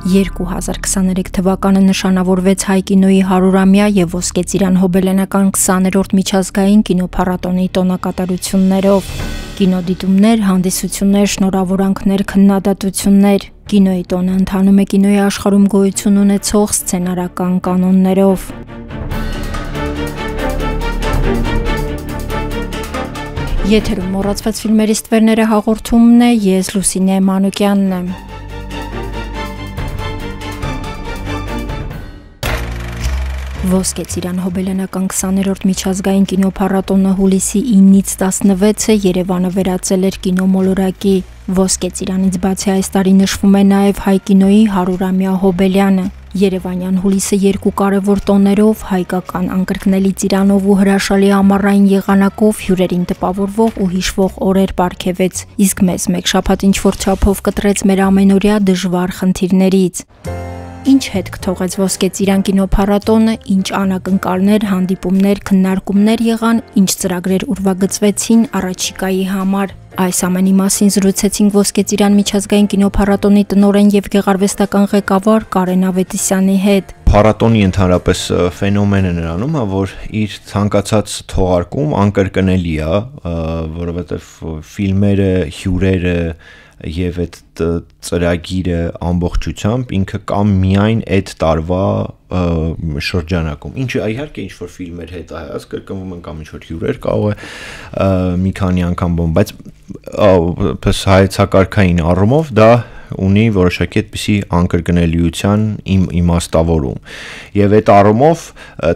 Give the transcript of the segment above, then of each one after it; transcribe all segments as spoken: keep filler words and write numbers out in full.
երկու հազար քսաներեք թվականը նշանավորվեց հայ կինոյի հարյուրամյա եւ ոսկե ծիրան հոբելյանական քսաներորդ միջազգային կինոփառատոնի տոնակատարություններով։ Կինոդիտումներ, հանդիսություններ, շնորհավորանքներ, քննադատություններ։ Կինոյի տոնը ընթանում է կինոյի աշխարհում գոյություն ունեցող սցենարական կանոններով։ Եթերում մոռացված ֆիլմերի ստվերները հաղորդումն է, ես Լուսինե Մանուկյանն եմ։ Ոսկե ծիրան հոբելյանական քսաներորդ միջազգային կինոփառատոնը հուլիսի ինից տասնվեցը Երևանը վերածել էր կինոմոլորակի։ Ոսկե ծիրանից բացի այս տարի նշվում է նաև հայ կինոյի հարյուրամյա հոբելյանը։ Երևանյան հուլիսը երկու կարևոր տոներով, հայկական անկրկնելի ծիրանով ու հրաշալի ամառային եղանակով հյուրերին տպավորվող ու հիշվող օրեր պարգևեց, իսկ մեզ մեկ շաբաթ ինչ-որ չափով կտրեց մեր ամենօրյա դժվար խնդիրներից։ Ինչ հետք թողեց ոսկե ծիրան կինոփառատոնը, ինչ անակնկալներ, հանդիպումներ, քննարկումներ եղան, ինչ ծրագրեր ուրվագծվեցին առաջիկայի համար։ Այս ամենի մասին զրուցեցինք ոսկե ծիրան միջազգային կինոփառատոնի տնօրեն եւ գեղարվեստական ղեկավար Կարեն Ավետիսյանի հետ։ Փառատոնի ընդհանրապես ֆենոմենը նրանում է, որ իր ցանկացած թողարկում անկրկնելի է, որովհետեւ ֆիլմերը, հյուրերը եւ այդ ծրագիրը ամբողջությամբ ինքը կամ միայն այդ տարվա շրջանակում, ինչը իհարկե ինչ որ ֆիլմեր հետահայաց կրկնվում են կամ ինչ որ հյուրեր կարող է մի քանի անգամ բոմ, բայց պես հայեցակարգային առումով դա ունի որոշակի այդպիսի անկրկնելիության իմ իմաստավորում եւ այդ առումով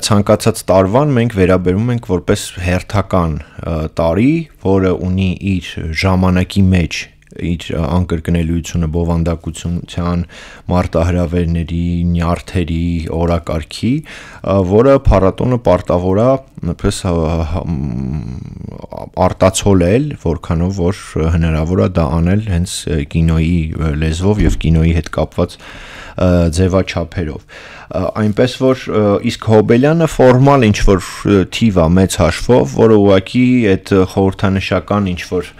ցանկացած տարվան մենք վերաբերում ենք որպես հերթական տարի, որը ունի իր ժամանակի մեջ իր անկրկնելիությունը բովանդակության, մարտահրավերների, նյարդերի, օրակարգի, որը փառատոնը պարտավոր է պես արտացոլել, որքանով որ հնարավոր է դա անել հենց կինոյի լեզվով եւ կինոյի հետ կապված ձևաչափերով։ Այնպես որ իսկ հոբելյանը ֆորմալ ինչ որ թիվ է մեծ հաշվով, որը ուղղակի այդ խորհրդանշական ինչ որ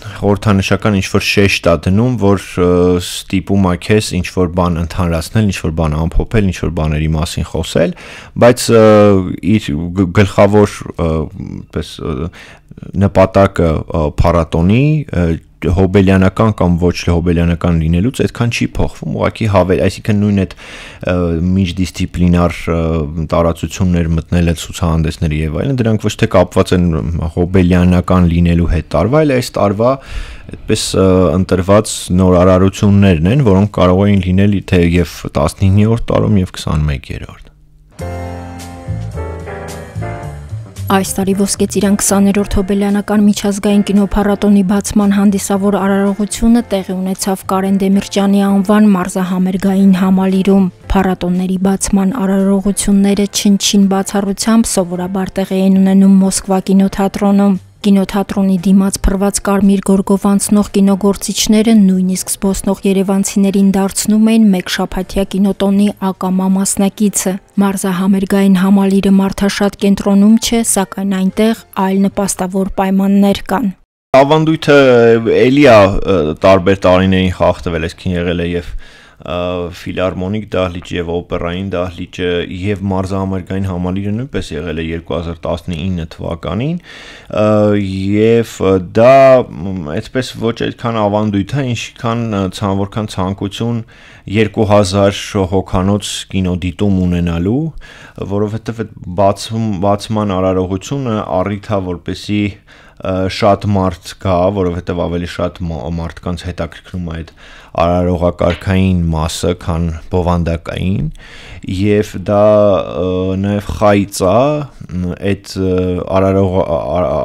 խորհրդանշական ինչ-որ շեշտ է դնում, որ ստիպում է քեզ ինչ-որ բան ընդհանրացնել, ինչ-որ բան ամփոփել, ինչ-որ բաների մասին խոսել, բայց իր գլխավոր պես նպատակը փառատոնի հոբելյանական կամ ոչ հոբելյանական լինելուց այդքան չի փոխվում, ուղղակի հավել, այսինքն նույն այդ միջդիսցիպլինար տարածություններ մտնելը ցուցահանդեսների եւ այլն, դրանք ոչ թե կապված են հոբելյանական լինելու հետ տարվա, այլ այս տարվա այդպես ընտրված նոր արարություններն են, որոնք կարող էին լինել թե եւ տասնիններորդ տարում եւ քսանմեկերորդ։ Այս տարի ոսկե ծիրան քսաներորդ հոբելյանական միջազգային կինոփառատոնի բացման հանդիսավոր արարողությունը տեղի ունեցավ Կարեն Դեմիրճյանի անվան մարզահամերգային համալիրում։ Փառատոնների բացման արարողությունները չնչին բացառությամբ սովորաբար տեղի են ունենում Մոսկվա կինոթատրոնում։ Կինոթատրոնի դիմաց փռված կարմիր գորգով անցնող կինոգործիչները նույնիսկ զբոսնող երևանցիներին դարձնում էին մեկ շաբաթյա կինոտոնի ակամա մասնակիցը։ Մարզահամերգային համալիրը մարդաշատ կենտրոնում չէ, սակայն այնտեղ այլ նպաստավոր պայմաններ կան։ Ավանդույթը էլի է տարբեր տարիներին խախտվել, այսքան եղել է եւ ֆիլհարմոնիկ դահլիճը եւ օպերային դահլիճը եւ մարզահամերգային համալիրը նույնպես եղել է երկու հազար տասնինը թվականին եւ դա այդպես ոչ այդքան ավանդույթ է, ինչքան որքան ցանկություն երկու հազար հոգանոց կինոդիտում ունենալու, որովհետեւ այդ բացում բացման արարողությունը առիթ է որպեսի շատ մարդ կա, որովհետև ավելի շատ մարդկանց հետաքրքրում է այդ արարողակարգային մասը, քան բովանդակային, եւ դա նաեւ խայծ է այդ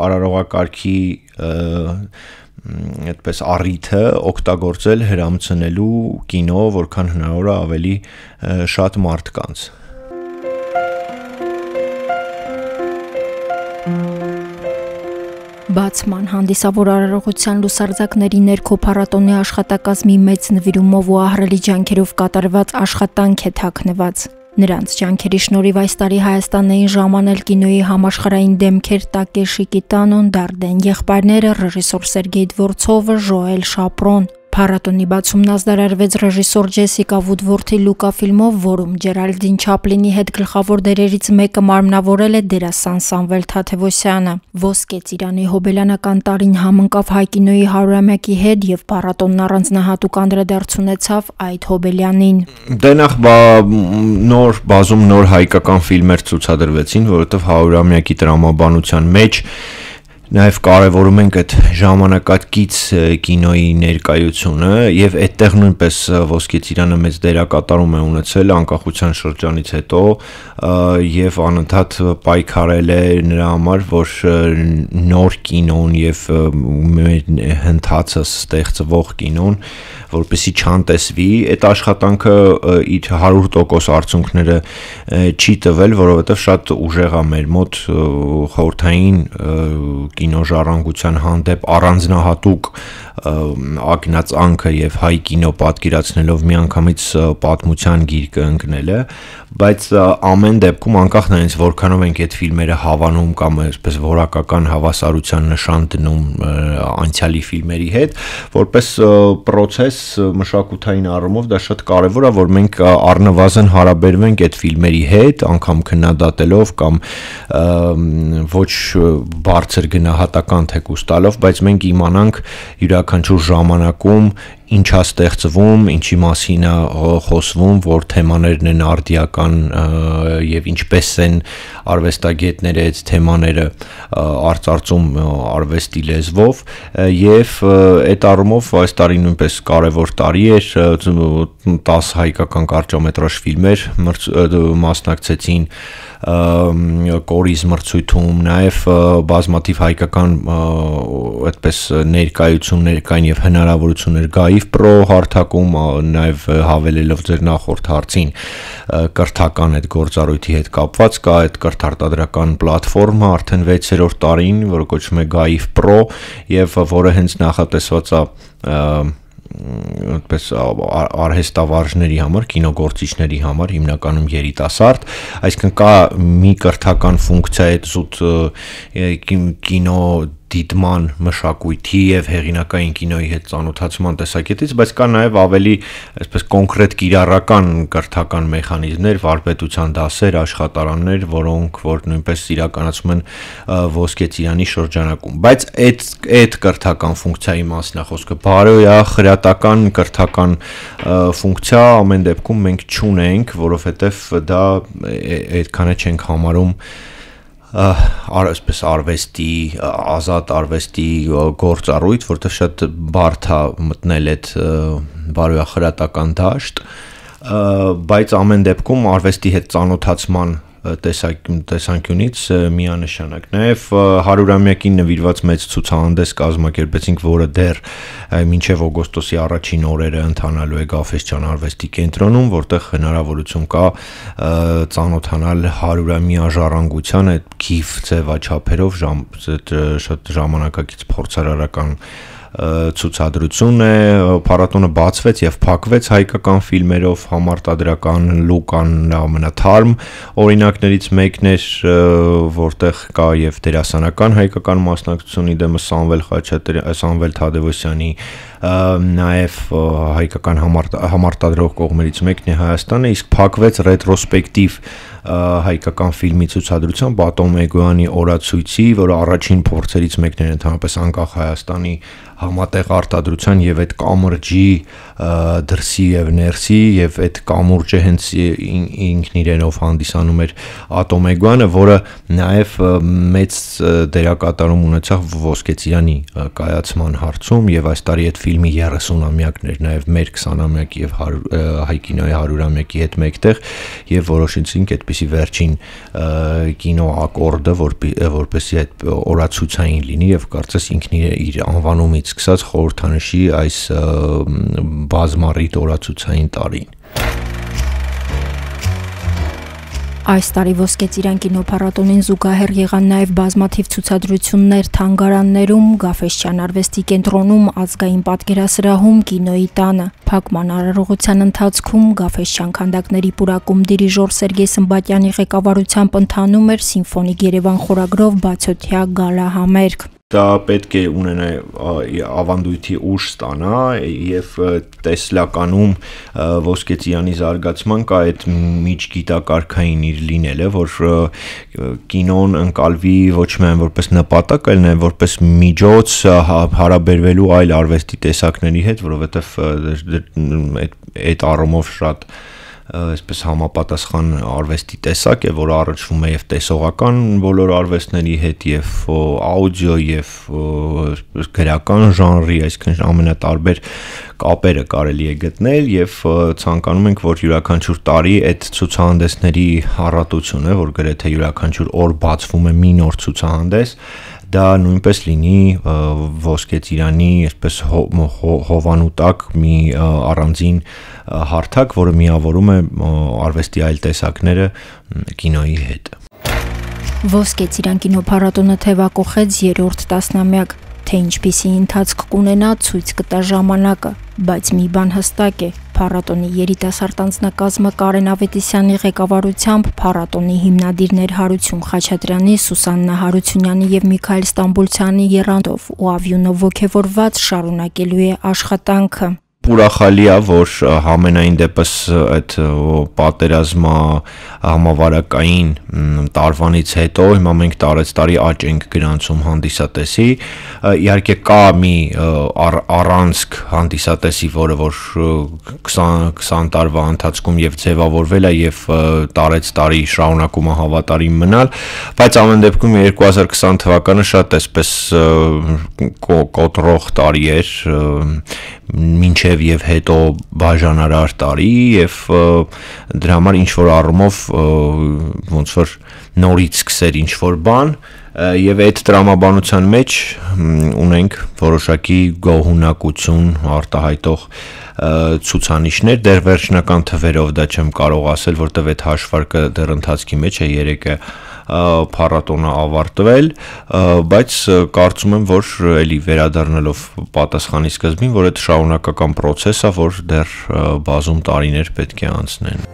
արարողակարգի այդպես առիթը օգտագործել հրամցնելու կինո, որքան հնարավոր է ավելի շատ մարդկանց։ Բացման հանդիսավոր արարողության լուսարձակների ներքո փառատոնի աշխատակազմի մեծ նվիրումով ու ահռելի ջանքերով կատարված աշխատանք է թաքնված։ Նրանց ջանքերի շնորհիվ այս տարի Հայաստանն էին ժամանել կինոյի համաշխարհային դեմքեր Տակեշի Կիտանոն, Դարդեն եղբայրները, ռեժիսոր Սերգեյ Դվորցովը, Ժոել Շապրոն։ Փառատոնի բացումն ազդարարվեց ռեժիսոր Ջեսիկա Վուդվորթի Լուկա ֆիլմով, որում Ջերալդին Չապլինի հետ գլխավոր դերերից մեկը մարմնավորել է դերասան Սամվել Թադևոսյանը։ Ոսկե ծիրանի հոբելյանական տարին համընկավ հայ կինոյի հարյուրամյակի հետ եւ փառատոնն առանձնահատուկ անդրադարձ ունեցավ այդ հոբելյանին։ Դե նախ նոր բազում նոր հայկական ֆիլմեր ցուցադրվեցին, որովհետեւ հարյուրամյակի տրամաբանության մեջ Նաև կարևորում ենք այդ ժամանակակից կինոյի ներկայությունը եւ այդտեղ նույնպես Ոսկե ծիրանը մեծ դերակատարում է ունեցել անկախության շրջանից հետո եւ անընդհատ պայքարել է նրա համար, որ նոր կինոն եւ հնդածը ստեղծվող կինոն որպեսի չանտեսվի, այդ աշխատանքը իր հարյուր տոկոս արդյունքները չի տվել, որովհետեւ շատ ուժեղ է մեր մոտ խորհրդային կինոժառանգության հանդեպ առանձնահատուկ ակնածանքը եւ հայ կինո պատկերացնելով միանգամից պատմության գիրկը ընկնելը, բայց ամեն դեպքում անկախ նրանից որքանով ենք այդ ֆիլմերը հավանում կամ այսպես որակական հավասարության նշան դնում անցյալի ֆիլմերի հետ, որպես process մշակութային առումով դա շատ կարեւոր է, որ մենք առնվազն հարաբերվենք այդ ֆիլմերի հետ, անգամ քննադատելով կամ ոչ բարձր գնահատական թեկուզ տալով, բայց մենք իմանանք յուրաքանչյուր ժամանակում ինչ է ստեղծվում, ինչի մասին է խոսվում, որ թեմաներն են արդիական եւ ինչպես են արվեստագետները այդ թեմաները արծարծում արվեստի լեզվով եւ այդ առումով այս տարի նույնպես կարևոր տարի էր, տասը հայկական կարճամետրաժ ֆիլմեր մասնակցեցին կորիզ մրցույթում, նաև բազմաթիվ հայկական այդպես ներկայություններ կային եւ հնարավորություններ Գայիվ Պրո հարթակում, նաև հավելելով ձեր նախորդ հարցին կրթական այդ գործառույթի հետ կապված կա այդ կրթարտադրական պլատֆորմը արդեն վեցերորդ տարին, որը կոչվում է Գայիվ Պրո եւ որը հենց նախատեսված է այդպես արհեստավարժների համար, կինոգործիչների համար, հիմնականում երիտասարդ, այսինքն կա մի կրթական ֆունկցիա այդ զուտ կինո դիտման մշակույթի եւ հեղինակային կինոյի հետ ծանոթացման տեսակետից, բայց կա նաեւ ավելի այսպես կոնկրետ կիրառական կրթական մեխանիզմներ, վարպետության դասեր, աշխատարաններ, որոնք որ նույնպես իրականացում են Ոսկե ծիրանի շրջանակում, բայց այդ այդ կրթական ֆունկցիայի մասն է խոսքը, բարոյա խրատական կրթական ֆունկցիա ամեն դեպքում մենք չունենք, որովհետեւ դա այդքանը չենք համարում այսպես արվեստի ազատ արվեստի գործառույթ, որտեղ շատ բարդ է մտնել այդ բարոյախրատական դաշտ, բայց ամեն դեպքում արվեստի հետ ծանոթացման տեսանկյունից միանշանակ նաև հարյուրամյակին նվիրված մեծ ցուցահանդես կազմակերպեցինք, որը դեռ մինչև օգոստոսի առաջին օրերը ընթանալու է Գաֆէսճեան արվեստի կենտրոնում, որտեղ հնարավորություն կա ծանոթանալ հարյուրամյա ժառանգության այդ գիֆ ձևաչափերով շատ ժամանակակից փորձարարական ցուցադրություն է, փառատոնը բացվեց եւ փակվեց հայկական ֆիլմերով, համարտադրական Լուկան ամենաթարմ օրինակներից մեկն էր, որտեղ կա եւ դերասանական հայկական մասնակցությունի դեմը Սամվել Խաչատրյանի, Սամվել Թադևոսյանի, նաեւ հայկական համարտադրող կողմերից մեկն է Հայաստանը, իսկ փակվեց ռետրոսպեկտիվ հայկական ֆիլմի ցուցադրության Բատոն Մեգոյանի օրացույցի, որը առաջին փորձերից մեկն էր ընդհանրապես անկախ Հայաստանի համատեղ արտադրության եւ այդ կամուրջի դրսի եւ ներսի եւ այդ կամուրջը հենց ինքն իրենով հանդիսանում էր Ատոմեգոյանը, որը նաեւ մեծ դերակատարում ունեցավ Ոսկե ծիրանի կայացման հարցում եւ այս տարի այդ ֆիլմի երեսունամյակն էր նաեւ մեր քսանամյակի եւ հայ կինոյի հարյուրամյակի հետ մեկտեղ եւ որոշեցինք այդպիսի վերջին կինո ակորդը, որպեսզի այդ օրացուցային լինի եւ կարծես ինքն իր անվանումից սկսած խորհրդանշի այս բազմառիթ օրացուցային տարին։ Այս տարի Ոսկե ծիրան կինոփառատոնին զուգահեռ եղան նաև բազմաթիվ ցուցադրություններ թանգարաններում, Գաֆէսճեան արվեստի կենտրոնում, ազգային պատկերասրահում, կինոյի տանը։ Փակման արարողության ընթացքում Գաֆէսճեան քանդակների պուրակում դիրիժոր Սերգեյ Սմբատյանի ղեկավարությամբ ընթանում էր Սիմֆոնիկ Երևան խորագրով բացօթյա գալա համերգ։ Դա պետք է ունենա ավանդույթի ուժ ստանա եւ տեսլականում Ոսկե ծիրանի զարգացման կա այդ միջգիտակարգային իր լինելը, որ կինոն ընկալվի ոչ միայն որպես նպատակ, այլ նաեւ որպես միջոց հարաբերվելու այլ արվեստի տեսակների հետ, որովհետեւ այդ առումով շատ այսպես համապատասխան արվեստի տեսակ է, որը առնչվում է եւ տեսողական բոլոր արվեստների հետ եւ աուդիո եւ գրական ժանրի, այսինքն ամենատարբեր կապերը կարելի է գտնել եւ ցանկանում ենք, որ յուրաքանչյուր տարի այդ ցուցահանդեսների առատությունը, որ գրեթե յուրաքանչյուր օր բացվում է մի նոր ցուցահանդես, դա նույնպես լինի Ոսկե ծիրանի այսպես հովանուտակ մի առանձին հարթակ, որը միավորում է արվեստի այլ տեսակները կինոյի հետ։ Ոսկե ծիրան կինոփառատոնը թևակողեց երրորդ տասնամյակ, թե ինչպիսի ընթացք կունենա ցույց կտա ժամանակը, բայց մի բան հստակ է, փառատոնի երիտասարդ անձնակազմը Կարեն Ավետիսյանի ղեկավարությամբ, փառատոնի հիմնադիրներ Հարություն Խաչատրյանի, Սուսաննա Հարությունյանի եւ Միքայել Ստամբուլցյանի եռանդով ու ավյունով ոգևորված շարունակելու է աշխատանքը։ Ուրախալի է, որ համենայն դեպս այդ պատերազմա համավարակային տարվանից հետո հիմա մենք տարեց տարի աճ ենք գրանցում հանդիսատեսի, իհարկե կա մի առանցք հանդիսատեսի, որը որ քսան տարվա ընթացքում եւ ձևավորվել է եւ տարեց տարի շարունակում է հավատարիմ մնալ, բայց ամեն դեպքում երկու հազար քսան թվականը շատ այսպես կոտրող տարի էր, մինչև եւ հետո բաժանարար տարի եւ դրա համար ինչ որ առումով ոնց որ նորից սկսեր ինչ որ բան եւ այդ տրամաբանության մեջ ունենք որոշակի գոհունակություն արտահայտող ցուցանիշներ, դեռ վերջնական թվերով դա չեմ կարող ասել, որտեւ այդ հաշվարկը դեռ ընթացքի մեջ է, երեկ է փառատոնը ավարտվել, բայց կարծում եմ, որ էլի վերադառնալով պատասխանի սկզբին, որ այդ շարունակական process է, որ դեռ բազում տարիներ պետք է անցնեն։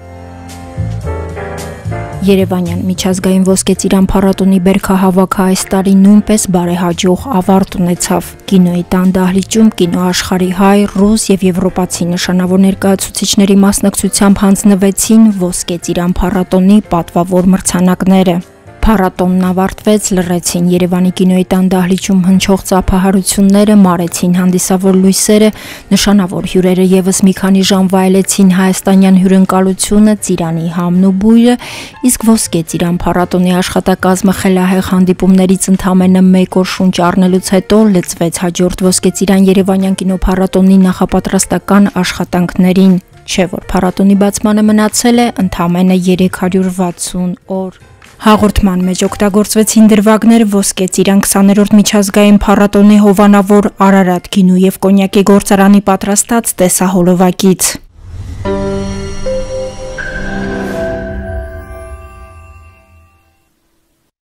Երևանյան միջազգային Ոսկե ծիրան փառատոնի բերքահավաքը այս տարի նույնպես բարեհաջող ավարտ ունեցավ։ Կինոյի տան դահլիճում կինոաշխարհի հայ, ռուս եւ եվրոպացի նշանավոր ներկայացուցիչների մասնակցությամբ հանձնվեցին Ոսկե ծիրան փառատոնի պատվավոր մրցանակները։ Փառատոնն ավարտվեց, լռեցին Երևանի կինոյի տան դահլիճում հնչող ծափահարությունները, մարեցին հանդիսավոր լույսերը, նշանավոր հյուրերը եւս մի քանի ժամ վայելեցին հայաստանյան հյուրընկալությունը, ծիրանի համն ու բույրը, իսկ Ոսկե ծիրան փառատոնի աշխատակազմը խելահեղ հանդիպումներից ընդամենը մեկ օր շունչ առնելուց հետո լծվեց հաջորդ Ոսկե ծիրան Երևանյան կինոփառատոնի նախապատրաստական աշխատանքներին, չէ՞ որ փառատոնի բացմանը մնացել է ընդամենը երեք հարյուր վաթսուն օր։ Հաղորդման մեջ օգտագործվեցին դրվագներ Ոսկե ծիրան քսաներորդ միջազգային փառատոնի հովանավոր Արարատ գինու եւ կոնյակի գործարանի պատրաստած տեսահոլովակից։